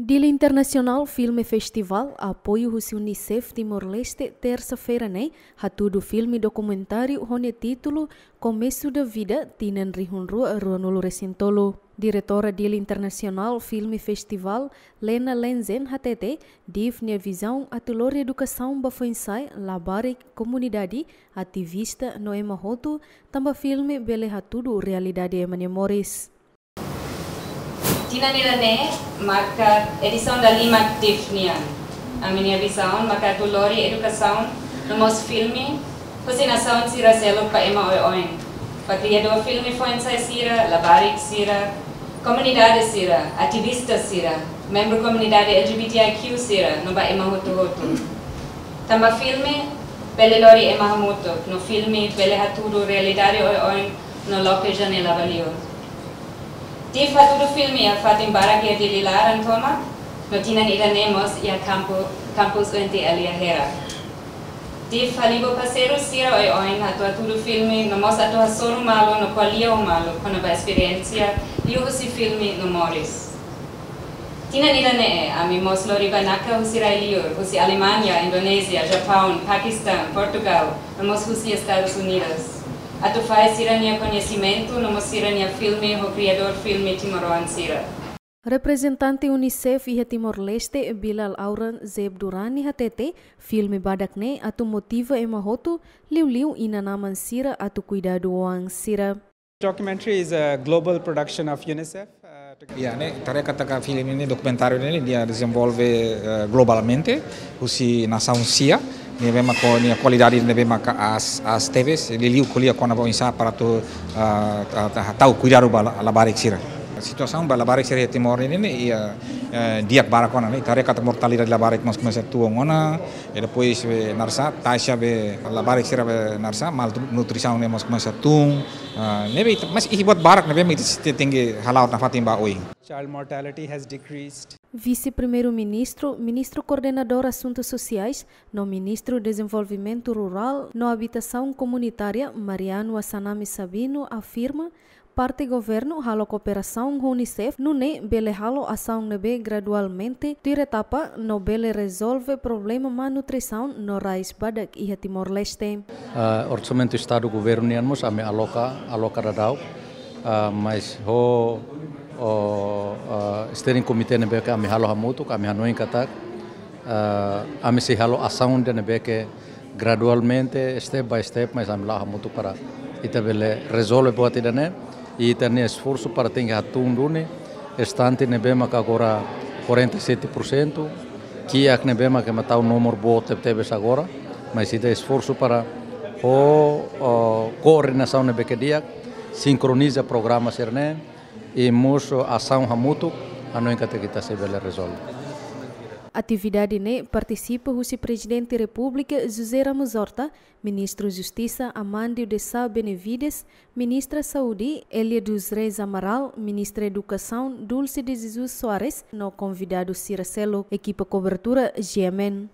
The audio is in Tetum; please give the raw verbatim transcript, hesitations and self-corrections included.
Dili Internasionál Filme Festival, apoiu husi UNICEF Timor-Leste, tersa-feira ne'e hatudu filme dokumentáriu ho nia títulu Começo da Vida, tinan rihun rua ruanulu resin tolu. Diretora Dili Internasionál Filme Festival, Lena Lenzen, hatete, DIF nia vizaun atu lori edukasaun ba foin-sa'e, labarik, komunidade, ativista no ema hotu, tanba filme bele hatudu realidade ema nia moris. Tinan ida-ne'e marka edisaun dalimak DIF nian. Ami-nia vizaun maka atu lori edukasaun no mós filme husi nasaun sira seluk ba ema oioin, ba kriadór filme foin-sa'e sira, labarik sira, komunidade sira, ativista sira, membru komunidade LGBTIQ sira, no ba ema hotu-hotu. Tanba filme bele lori ema hamutuk, no filme bele hatudu realidade oioin no loke janela ba liur. DIF hatudu filme iha fatin barak iha Dili laran tomak, no tinan ida-ne'e mós iha kampu, kampus UNTL iha Hera. DIF halibur parseiru sira oioin atu hatudu filme no mós atu hasoru malu no ko'alia ho malu kona-ba esperiénsia liuhusi filme no moris. Tinan ida-ne'e ami mós lori banaka husi rai-liur, husi Alemaña, Indonézia, Japaun, Pakistan, Portugál, no mós husi Estadus Unidus, atu fahe sira-nia koñesimentu no mós sira-nia filme ho kriadór filme timoroan sira. Reprezentante UNICEF iha Timor-Leste, Bilal Auran Zeb Durrani, hatete, filme badak ne'e atu motiva ema hotu, liuliu inan-aman sira, atu kuidadu oan sira. Documentary is a global production of UNICEF. Uh, to- Ya, ne'e, ita haree katak filme ne'e, dokumentáriu ne'e, nia dezenvolve, eh, globalmente, husi nasaun sia, ne'ebé maka ho nia kualidade ne'ebé maka aas, aas tebes, liuliu ko'alia kona-ba oinsá para atu, ah, ta, ta, tau kuidadu ba la-, labarik sira. Situasaun ba labarik sira iha Timor ne'e, ne'e, iha, eh, di'ak barak ona, ne'e, ita haree katak mortalidade labarik mós komesa tun ona, e depois, eh, naran sá, taxa ba labarik sira ba naran sá, malnutrisaun ne'e mós komesa tun, ah, ne'ebé ita, mas iha buat barak ne'ebé mak ita tenke hala'o nafatin ba oin. Child mortality has decreased. Vise-Primeiru-Ministru, Ministru Koordenadór Asuntus Sosiais, no Ministru Dezenvolvimentu Rurál no Abitasaun Komunitária, Mariano Assanami Sabino, afirma, parte governu halo kooperasaun ho UNICEF, nune'e bele halo asaun ne'ebé gradualmente tuir etapa no bele rezolve problema malnutrisaun no rais badak iha Timor-Leste. Ah, orsamentu Estadu governu nian mós ami aloka, aloka daudaun, ah, mas ho, o, ah, steering committee ne'ebé ke ami halo hamutuk, ami hanoin katak, ah, ami sei halo asaun ida ne'ebé ke gradualmente, step by step, mas ami la'o hamutuk para ita bele rezolve buat ida-ne'e, i ita-nia esforsu para tenke hatún duni estante ne'ebé maka agora quarenta e sete por cento, kiak ne'ebé maka ema tau nomor boot tebetebes agora, mas ita esforsu para ho, o, koordenasaun ne'ebé ke di'ak, sinkroniza programa sira-ne'e, i mós asaun hamutuk, hanoin katak ita sei bele rezolve. Atividade ne'e partisipa husi Prezidente Repúblika José Ramos Horta, Ministru Justisa Amandio de Sá Benavides, Ministra Saúde Elia dos Reis Amaral, Ministra Edukasaun Dulce de Jesus Soares, no konvidadu sira seluk. Ekipa kobertura GMN.